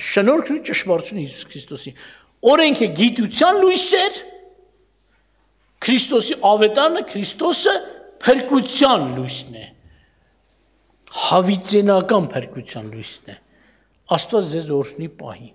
շնորհքն ու ճշմարտությունը Հիսուս Քրիստոսի։ Օրենքը գիտության լույս էր, Քրիստոսի ավետարանը, Քրիստոսը փրկության լույսն է։ Հավիտենական փրկության լույսն է։ Աստված ձեզ օրհնի պահի։